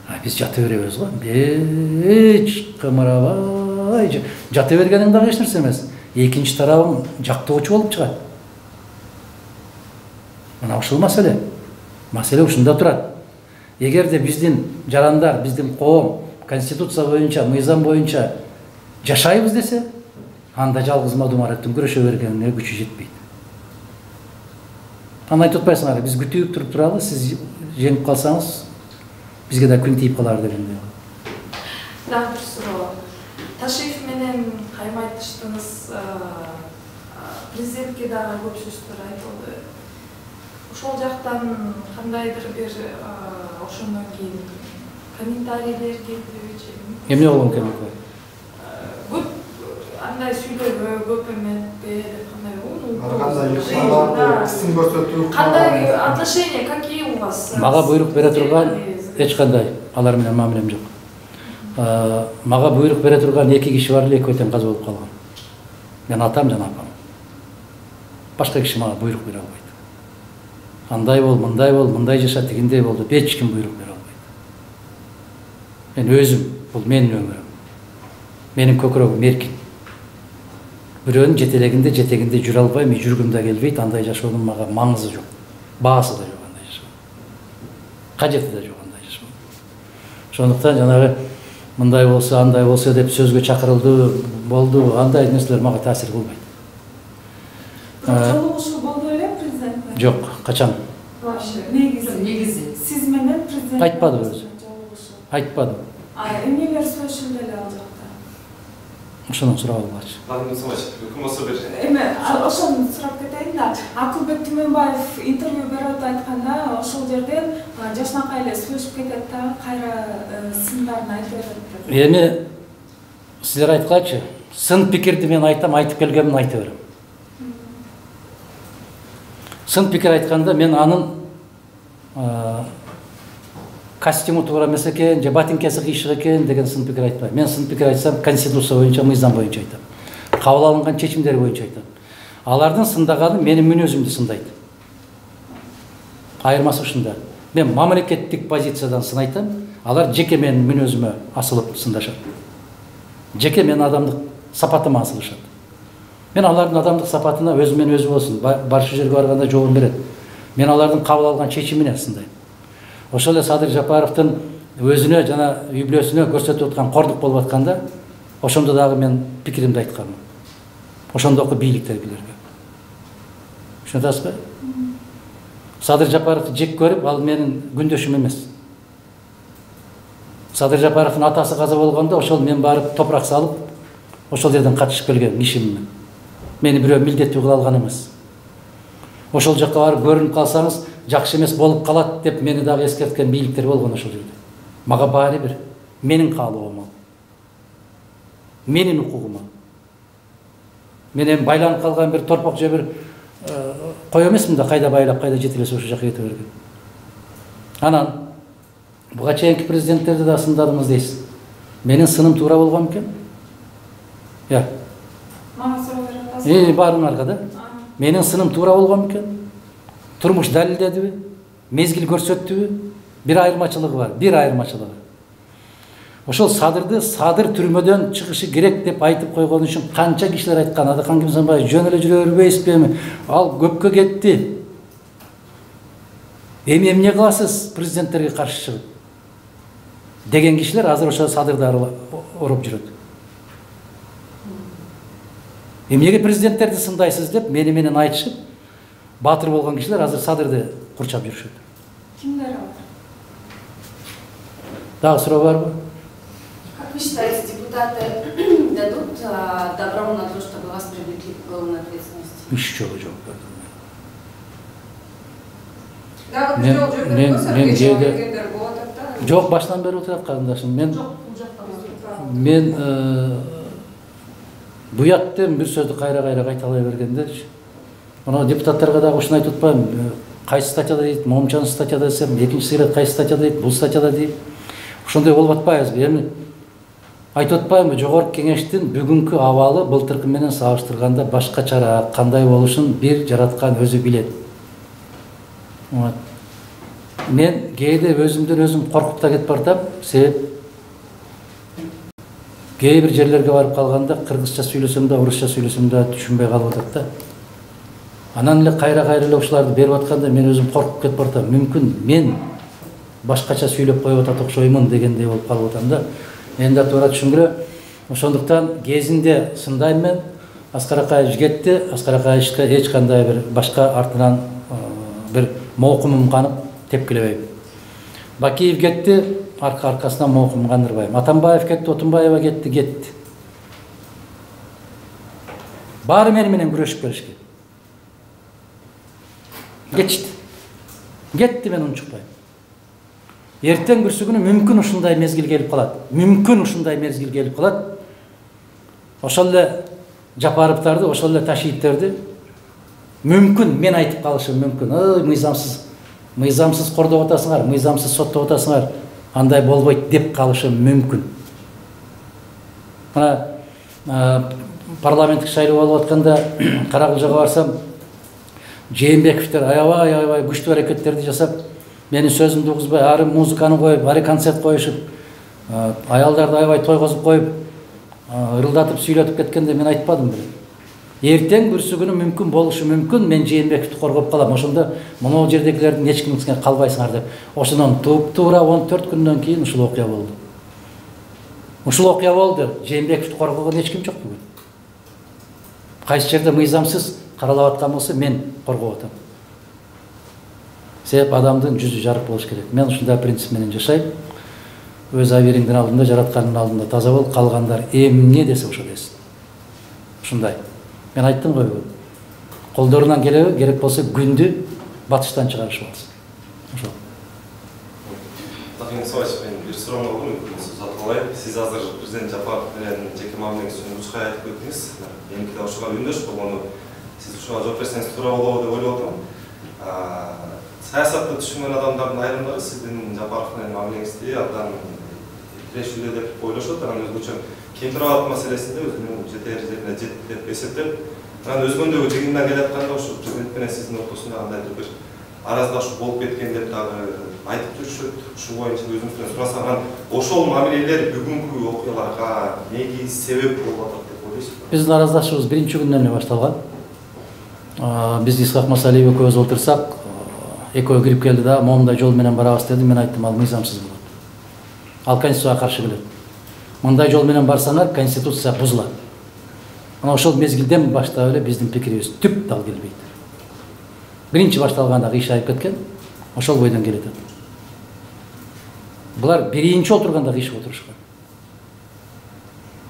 Speaker 1: А биз жата беребиз го. Эч кымырабай жата бергениң дагы эч нерсе эмес. Экинчи тарабың жактоочу болуп чыгат. Мына ушул маселе. Маселе ушунда турат. Эгерде биздин жарандар, биздин коом конституция боюнча, мыйзам боюнча жашайбыз десе, анда жалгыз Мадумареттин күрөшө бергенине күчү жетпейт. Аны айтып атпайсыңар, биз күтүп туруп туралы, сиз жеңип калсаңыз, бизге да күн тийип калар дегендей.
Speaker 3: Дагы бир суроо. Ташиев менен каймайтыштыңыз, президентке дагы көп сөздөр айтылды. Ошол жактан кандайдыр бир ошондон кийин комментарийлер келдиби?
Speaker 1: Эмне болгон комментарий?
Speaker 3: Көп андай сүйлөбө, көп эметпе деп кандай
Speaker 9: кандай сын көрсөтүү,
Speaker 3: кандай отношения, какие у вас?
Speaker 1: Мага буйрук бере турган эч кандай алар менен мамилем жок. Мага буйрук бере турган эки киши бар эле, экөө тең каза болуп калган. Мен атам жана апам. Башка киши мага буйрук бере албайт. Андай бол, мындай бол, мындай жаша, тигиндей бол деп эч ким буйрук бере албайт. Мен өзүм, бул менин өмүрүм. Менин көкүрөгүм эркин. Бирөөнүн жетелегинде, жетегинде жүрө албайм, жүргүм да келбейт, андай жашоонун мага маңызы жок. Баасы да жок андай жашоо. Кажети да жок андай жашоо. Ошондуктан жанагы мындай болсо, андай болсо деп сөзгө чакырылды, болду, андай нерселер мага таасир кылбайт.
Speaker 11: Жолугушуу болду эле президент?
Speaker 1: Жок, качан?
Speaker 11: Негизи. Негизи. Сиз менен президент
Speaker 1: Айтпады өзү. Айтпады.
Speaker 11: А эмнелер сүйлөшүлдү эле ал жакта?
Speaker 1: Ошону сурап алгачы.
Speaker 2: Ким болсо бир.
Speaker 11: Эме, ошону сурап кетейин да. Акылбек Түмөнбаев интервью берип айтканда, ошол жерден жашнакай эле сүйлөшүп кетет да, кайра сындарын айтып берет.
Speaker 1: Эми силер айткачы, сын пикирди мен айтам, айтып келгенмин айта берем. Сын пикир айтканда мен анын костюму туура эмес экен же ботинкеси кыйшык экен деген сын пикир айтпайм. Мен сын пикир айтсам конституция боюнча, мыйзам боюнча айтам. Кабыл алынган чечимдер боюнча айтам. Алардын сындаганы менин мүнөзүмдү сындайт. Айырмасы ушунда. Мен мамлекеттик позициядан сын айтам, алар жеке менин мүнөзүмө асылып сындашат. Жеке менин адамдык сапатыма асылышат. Мен алардын адамдык сапатына өзүмен өзү болсун, баршы жерге барганда жообун берет. Мен алардын кабыл алган чечимине сындайм. Ошол эле Садыр Жапаровдун өзүнө жана үй бүлөсүнө көрсөтүп аткан кордук болуп атканда, ошондо дагы мен пикиримди айтканмын. Ошондоку бийликтегилерге. Түшүнөсүзбү? Садыр Жапаровду жек көрүп, ал менин күндөшүм эмес. Садыр Жапаровдун атасы каза болгондо ошол мен барып топурак салып, ошол жерден катышып келген кишимин. Мени бирөө милдеттүү кыла алган эмес. Ошол жакка барып көрүнүп калсаңыз, жакшы эмес болуп калат деп мени дагы эскерткен бийликтер болгон ошол жерде. Мага баары бир, менин каалоомун. Менин укугума. Менен байланып калган бир торпок же бир кой эмесмин да кайда байлап, кайда жетелесе ошол жака кете берген. Анан буга чейинки президенттерди да сындадыңыз дейсиз. Менин сыным туура болгон экен? Я.
Speaker 11: Мага суроо берип атасыз.
Speaker 1: Э, баарыңарга да. Менин сыным туура болгон экен? Турмуш далилдедиби? Мезгил көрсөттүбү? Бир айырмачылыгы бар, бир айырмачылыгы. Ошол Садырды Садыр түрмөдөн чыгышы керек деп айтып койгон үчүн канча кишилер айткан. Адакан Кимсанбаев жөн эле жүрө бербейсизби? Ал көпкө кетти. Эми эмне кыласыз президенттерге каршы чыгып? Деген кишилер азыр ошо Садырды ороп жүрөт. Эмнеге президенттерди сындайсыз деп мени менен айтышып, баатыр болгон кишилер азыр Садырды курчап жүрүшөт.
Speaker 11: Кимдер алар?
Speaker 1: Дагы суроо барбы?
Speaker 4: Как вы считаете, депутаты дадут а, добро на то, чтобы вас привлекли к уголовной ответственности?
Speaker 1: Еще жок бердим.
Speaker 5: Да, вот
Speaker 1: Мен-
Speaker 5: жок жүргөн
Speaker 1: мен-
Speaker 5: болсо,
Speaker 1: мен
Speaker 5: кечээ
Speaker 1: жээде-
Speaker 5: келгендер болот да.
Speaker 1: Жок, баштан бери отурат карындашым. Мен
Speaker 6: Жок, бул жакта.
Speaker 1: мен э, буяттен бир сөздү кайра-кайра кайталай бергенде, мына депутаттарга дагы ушуну айтып атпаймынбы? Кайсы статьяда дейт, момчан статьяда десем, экинчи ирет кайсы статьяда дейт, бул статьяда дейт. Ошондой болуп атпайбызбы? Эми айтып атпаймынбы? Жогорку кеңештин бүгүнкү абалы былтыркы менен салыштырганда башкачараак, кандай болушун бир жараткан өзү билет. Вот. Мен кээде өзүмдөн өзүм коркуп да кетип бартам, себеп кээ бир жерлерге барып калганда кыргызча сүйлөсөм да, орусча сүйлөсөм да түшүнбөй калып атат да. Анан эле кайра-кайра эле ушуларды берип атканда мен өзүм коркуп кетип бартам. Мүмкүн мен башкача сүйлөп коюп атат окшоймун дегендей болуп калып атам да. Энди туура түшүнгүлө. Ошондуктан кезинде сындайм мен. Аскар Акаевич кетти. Аскар Акаевичке эч кандай бир башка артынан бир моокумум канып тепкилебейм. Бакиев кетти, арка аркасынан моокум кандырбайм. Атамбаев кетти, Отунбаева кетти, кетти. Баары мени менен күрөшүп келишкен. Кетишти. Кетти, мен унчукпайм. Эртең бүрсүгүнү мүмкүн ушундай мезгил келип калат. Мүмкүн ушундай мезгил келип калат. Ошол эле Жапаровдарды, ошол эле Ташиевтерди мүмкүн мен айтып калышым мүмкүн. Ой, мыйзамсыз, мыйзамсыз кордоп атасыңар, мыйзамсыз соттоп атасыңар. Андай болбойт деп калышым мүмкүн. Мына парламенттик шайлоо болуп атканда Каракылжага барсам, Жээнбековдер аябай аябай күчтүү аракеттерди жасап, менин сөзүмдү угузбай, ары музыканы коюп, ары концерт коюшуп, аялдарды аябай тойгозуп коюп, ырылдатып сүйлөтүп кеткенде мен айтпадым беле. Эртең бүрсүгүнү мүмкүн болушу мүмкүн, мен Жээнбековду коргоп калам. Ошондо монол жердегилердин эч кимге калбайсыңар деп. Ошондон туп-туура он төрт күндөн кийин ушул окуя болду. Ушул окуя болду. Жээнбековду коргогон эч ким жок бүгүн. Кайсы жерде мыйзамсыз каралап аткан болсо мен коргоп атам. Себеп адамдын жүзү жарык болуш керек. Мен ушундай принцип менен жашайм. Өз абийириңдин алдында, жараткандын алдында таза бол, калгандар эмне десе ошо десин. Ушундай. Мен айттым ғой бүгүн. Колдорунан келеби, керек болсо күндү батыштан чыгарышып алсын. Ошол.
Speaker 2: Владимир Николаевич, мен бир суроом бар, мүмкүн узатып алайын. Сиз азыр президент Жапаров менен жеке мамилеңизди нучкай айтып өттүңүз. Меники да ушуга үндөш болгону, сиз ушуга жооп берсеңиз туура болобу деп ойлоп атам. саясатты түшүнгөн адамдардын айрымдары сиздин Жапаров менен мамилеңизди абдан тирешүүлүү деп ойлошот. Анан өзгөчө кемпир абал маселесинде өзүнүн жетер жерине жетти деп эсептеп, анан өзгөндөгү жыйындан келатканда ушу президент менен сиздин ортосунда кандайдыр бир араздашуу болуп кеткен деп дагы айтып жүрүшөт. Ушул боюнча өзүңүздөн сурасам, анан ошол мамилелер бүгүнкү окуяларга негиз себеп болуп атат деп ойлойсузбу?
Speaker 1: Биздин араздашуубуз биринчи күндөн эле башталган. Биз Исхак Масалиев экөөбүз отурсак, экөө кирип келди да, момундай жол менен барабыз деди. Мен айттым, ал мыйзамсыз болот. Ал конституцияга каршы келет. Мындай жол менен барсаңар, конституция бузулат. Анан ошол мезгилден баштап эле биздин пикирибиз түп дал келбейт. Биринчи башталганда кыйшайып кеткен, ошол бойдон келет. Булар биринчи отурганда кыйшык отурушкан.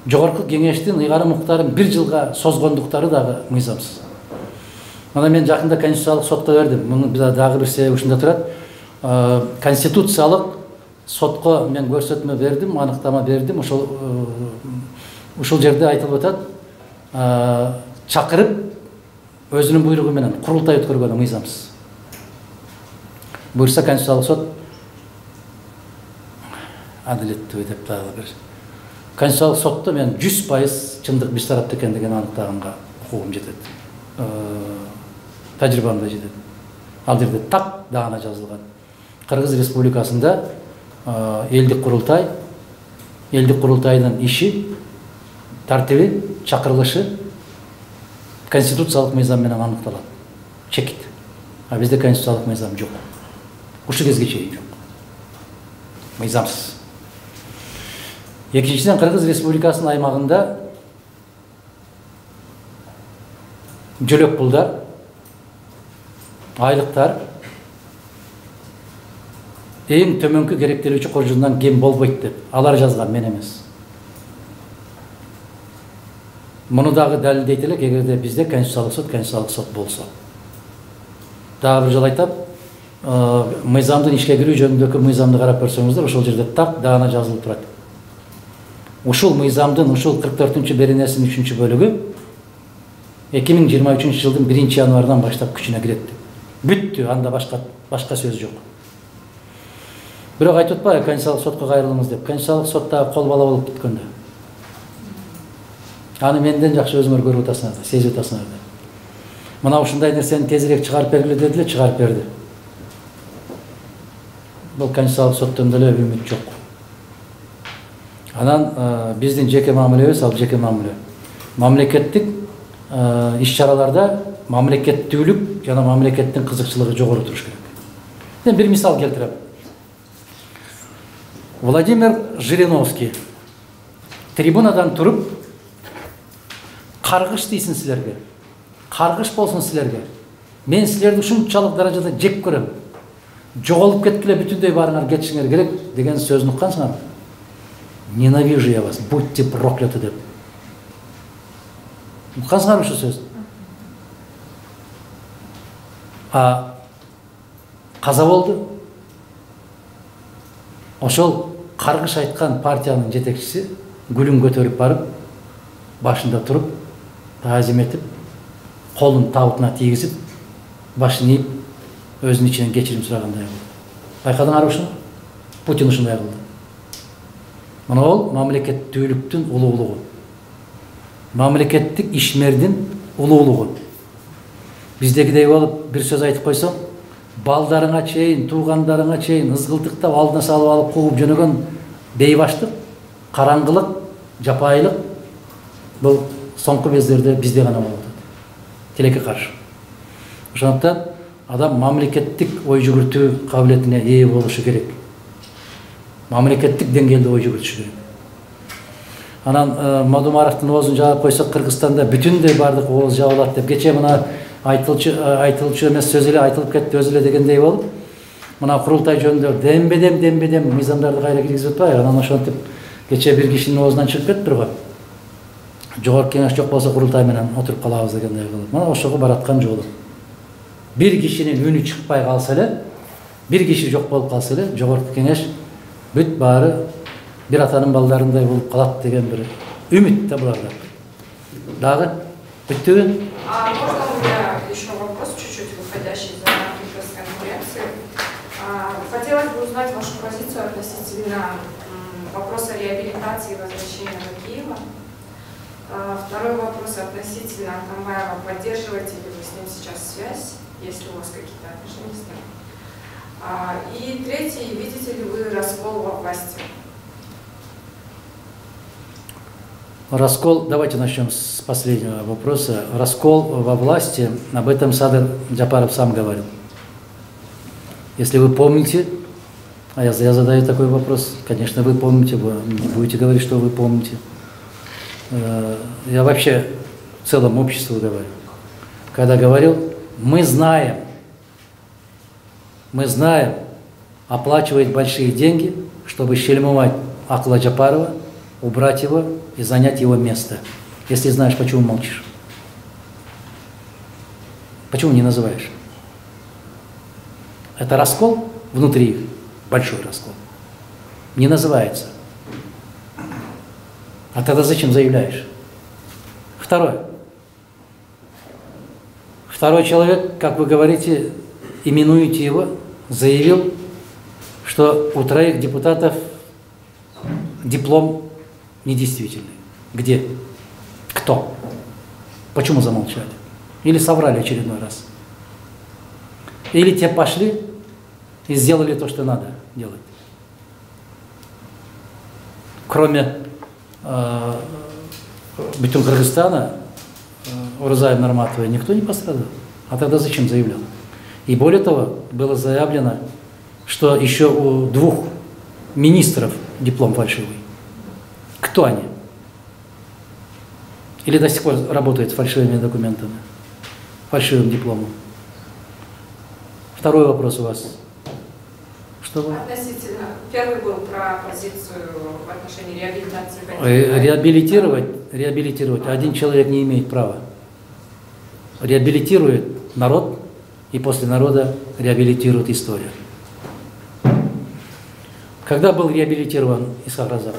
Speaker 1: Жогорку кеңештин ыйгары муктарын бир жылга созгондуктары дагы мыйзамсыз. Анан мен жакында конституциялык сотко бердим. Мунун дагы бир себеби ушунда турат. Конституциялык сотко мен көрсөтмө бердим, аныктама бердим. Ошол ушул жерде айтылып атат, чакырып өзүнүн буйругу менен курултай өткөргөнү мыйзамсыз. Буюрса конституциялык сот адилеттүү деп дагы бир. Конституциялык сотто мен жүз пайыз чындык биз тарапта экендигин аныктаганга укугум жетет. Тажрыйбам да жетет. Ал жерде так даана жазылган. Кыргыз Республикасында элдик курултай, элдик курултайдын иши, тартиби, чакырылышы конституциялык мыйзам менен аныкталат. Чекит. А бизде конституциялык мыйзам жок. Ушул кезге чейин жок. Мыйзамсыз. Экинчиден, Кыргыз Республикасынын аймагында жөлөк пулдар, айлыктар эң төмөнкү керектелүүчү коржундан кем болбойт деп алар жазган, мен эмес. Муну дагы далилдейт элек, эгерде бизде конституциялык сот, конституциялык сот болсо. Дагы бир жолу айтам, мыйзамдын ишке кирүү жөнүндөгү мыйзамды карап көрсөңүздөр, ошол жерде так даана жазылып турат. Ушул мыйзамдын ушул кырк төртүнчү беренесинин үчүнчү бөлүгү эки миң жыйырма үчүнчү жылдын биринчи январынан баштап күчүнө кирет. Бүттү, анда башка башка сөз жок. Бирок айтып атпайбы, конституциялык сотко кайрылыңыз деп. Конституциялык сотта кол бала болуп бүткөндө. Аны менден жакшы өзүңөр көрүп атасыңар, сезип атасыңар. Мына ушундай нерсени тезирээк чыгарып бергиле дедиле, чыгарып берди. Бул конституциялык соттон деле үмүт жок. Анан биздин жеке мамилебиз, ал жеке мамиле. Мамлекеттик иш-чараларда мамлекеттүүлүк жана мамлекеттин кызыкчылыгы жогору туруш керек. Мен бир мисал келтирем. Владимир Жириновский трибунадан туруп, каргыш дейсин силерге, каргыш болсун силерге, мен силерди ушунчалык даражада жек көрөм, жоголуп кеткиле, бүтүндөй барыңар кетишиңер керек деген сөзүн уккансыңарбы? Ненавижу я вас, будьте прокляты деп. Уккансыңарбы ушул сөз? А каза болду. Ошол каргыш айткан партиянын жетекчиси гүлүн көтөрүп барып, башында туруп, таазим этип, колун табытына тийгизип, башын ийип, өзүнүн ичинен кечирим сурагандай болду. Байкадыңарбы ушуну? Путин ушундай кылды. Мына ол мамлекеттүүлүктүн улуулугу. Мамлекеттик ишмердин улуулугу. Биздегидей болуп бир сөз айтып койсоң, балдарыңа чейин, туугандарыңа чейин ызгылтыктап алдына салып алып кууп жөнөгөн бейбаштык, караңгылык, жапайылык бул соңку кездерде бизде гана болуп атат. Тилекке каршы. Ошондуктан адам мамлекеттик ой жүгүртүү кабилетине ээ болушу керек. Мамлекеттик деңгээлде ой жүгүртүшү керек. Анан Мадумаровдун оозун жаап койсок, Кыргызстанда бүтүндөй бардык ооз жабылат деп кече мына айтылчу айтылчу эмес сөз эле айтылып кетти өзү эле дегендей болуп, мына курултай жөнүндө дембедем дембедем мыйзамдарды кайра киргизип атпайбы? Анан ошентип кече бир кишинин оозунан чыгып кетти го. Жогорку кеңеш жок болсо курултай менен отуруп калабыз дегендей болуп. Мына ошого бараткан жолу. Бир кишинин үнү чыкпай калса эле, бир киши жок болуп калса эле, жогорку кеңеш бүт баары бир атанын балдарындай болуп калат деген бир үмүт да буларда. Дагы бүттүбү?
Speaker 3: А можно у меня еще вопрос, чуть-чуть выходящий за рамки пресс-конференции?
Speaker 5: Хотелось бы узнать вашу позицию относительно вопроса реабилитации и возвращения в Киева. Второй вопрос относительно Атамбаева. Поддерживаете ли вы с ним сейчас связь, если у вас какие-то отношения с ним? И третий, видите ли вы раскол во власти?
Speaker 1: Раскол, давайте начнем с последнего вопроса. Раскол во власти, об этом Садыр Джапаров сам говорил. Если вы помните, а я, я задаю такой вопрос, конечно, вы помните, вы не будете говорить, что вы помните. Я вообще в целом обществу говорю. Когда говорил, мы знаем, мы знаем оплачивать большие деньги, чтобы шельмовать Акыла Джапарова, убрать его и занять его место. Если знаешь, почему молчишь? Почему не называешь? Это раскол внутри их, большой раскол. Не называется. А тогда зачем заявляешь? Второе. Второй человек, как вы говорите, именуете его, заявил, что у троих депутатов диплом недействительный. Где? Кто? Почему замолчали? Или соврали очередной раз? Или те пошли и сделали то, что надо делать? Кроме э, Бетюн Кыргызстана, э, Урзаев Норматовой, никто не пострадал. А тогда зачем заявлял? И более того, было заявлено, что еще у двух министров диплом фальшивый. Кто они? Или до сих пор работают с фальшивыми документами, фальшивым дипломом? Второй вопрос у вас. Что вы?
Speaker 5: Относительно. Первый был про позицию в отношении реабилитации.
Speaker 1: Реабилитировать, реабилитировать один человек не имеет права. Реабилитирует народ, и после народа реабилитирует история. Когда был реабилитирован Исхак Разак?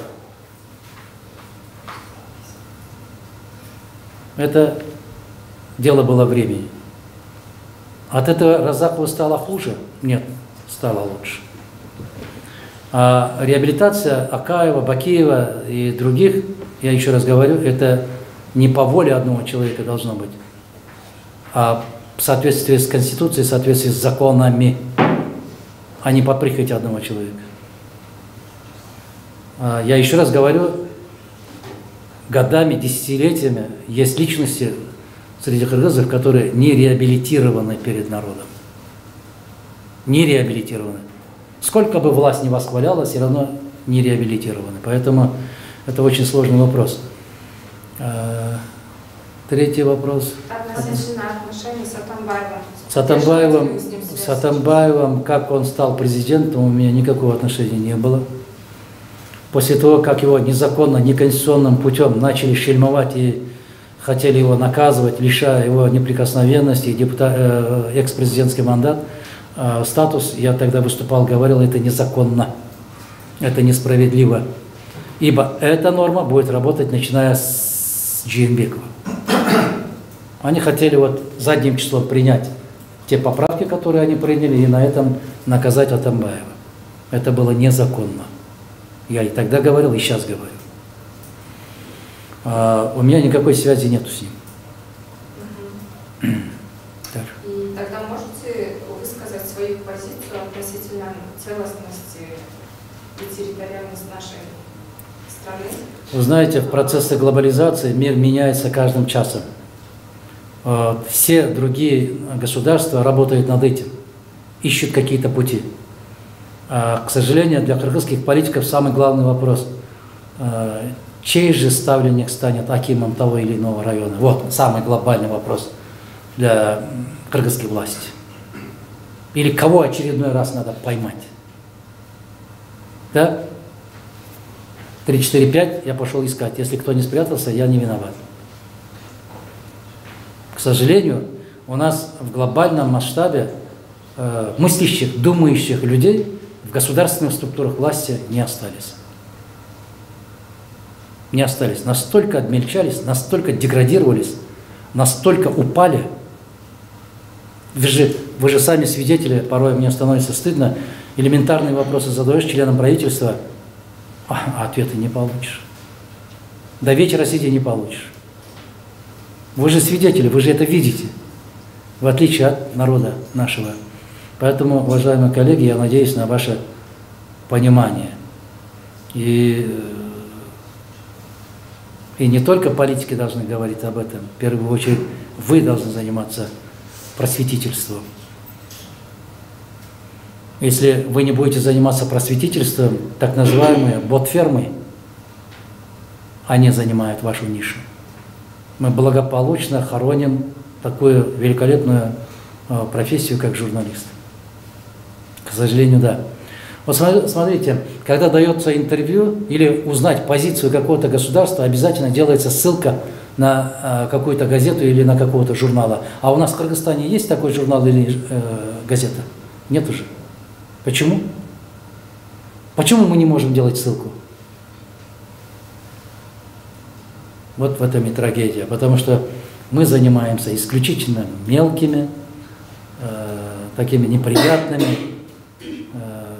Speaker 1: Это дело было времени. От этого Разакову стало хуже? Нет, стало лучше. А реабилитация Акаева, Бакиева и других, я еще раз говорю, это не по воле одного человека должно быть, а в соответствии с Конституцией, в соответствии с законами, а не по прихоти одного человека. А я еще раз говорю, годами, десятилетиями есть личности среди кыргызов, которые не реабилитированы перед народом. Не реабилитированы. Сколько бы власть ни восхваляла, все равно не реабилитированы. Поэтому это очень сложный вопрос. Третий вопрос.
Speaker 5: Относительно отношений с Атамбаевым.
Speaker 1: С Атамбаевым, с Атамбаевым, как он стал президентом, у меня никакого отношения не было. После того, как его незаконно, неконституционным путем начали шельмовать и хотели его наказывать, лишая его неприкосновенности и депутат, э, экс-президентский мандат, э, статус, я тогда выступал, говорил, это незаконно, это несправедливо. Ибо эта норма будет работать, начиная с Джеймбекова. Они хотели вот задним числом принять те поправки, которые они приняли, и на этом наказать Атамбаева. Это было незаконно. Я и тогда говорил, и сейчас говорю. А, у меня никакой связи нету с ним.
Speaker 5: Угу. Так. И тогда можете высказать свою позицию относительно целостности и территориальности нашей страны?
Speaker 1: Вы знаете, в процессе глобализации мир меняется каждым часом. А, все другие государства работают над этим, ищут какие-то пути. К сожалению, для кыргызских политиков самый главный вопрос, чей же ставленник станет акимом того или иного района. Вот самый глобальный вопрос для кыргызской власти. Или кого очередной раз надо поймать. Да? три, четыре, пять я пошел искать. Если кто не спрятался, я не виноват. К сожалению, у нас в глобальном масштабе э, мыслящих, думающих людей в государственных структурах власти не остались. Не остались. Настолько обмельчались, настолько деградировались, настолько упали Вы же, вы же сами свидетели, порой мне становится стыдно, элементарные вопросы задаешь членам правительства, а ответа не получишь. До вечера сиди не получишь. Вы же свидетели, вы же это видите, в отличие от народа нашего. Поэтому, уважаемые коллеги, я надеюсь на ваше понимание. И, и не только политики должны говорить об этом, в первую очередь вы должны заниматься просветительством. Если вы не будете заниматься просветительством, так называемые бот-фермы, они занимают вашу нишу. Мы благополучно хороним такую великолепную профессию, как журналист. К сожалению, да. Вот смотрите, когда дается интервью или узнать позицию какого-то государства, обязательно делается ссылка на какую-то газету или на какого-то журнала. А у нас в Кыргызстане есть такой журнал или э, газета? Нет уже. Почему? Почему мы не можем делать ссылку? Вот в этом и трагедия. Потому что мы занимаемся исключительно мелкими, э, такими неприятными, э,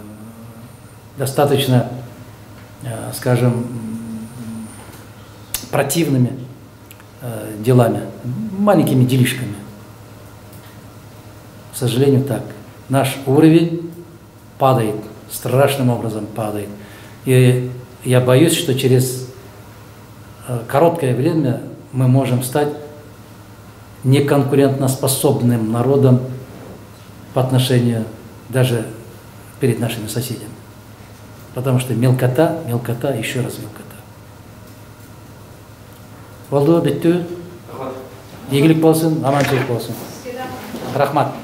Speaker 1: достаточно, э, скажем, противными э, делами, маленькими делишками. К сожалению, так. Наш уровень падает, страшным образом падает. И я боюсь, что через э, короткое время мы можем стать неконкурентоспособным народом по отношению даже перед нашими соседями. Потому что мелкота, мелкота, еще раз мелкота. Болду, биттүү. Ийгилик болсун, аманчылык болсун. Рахмат.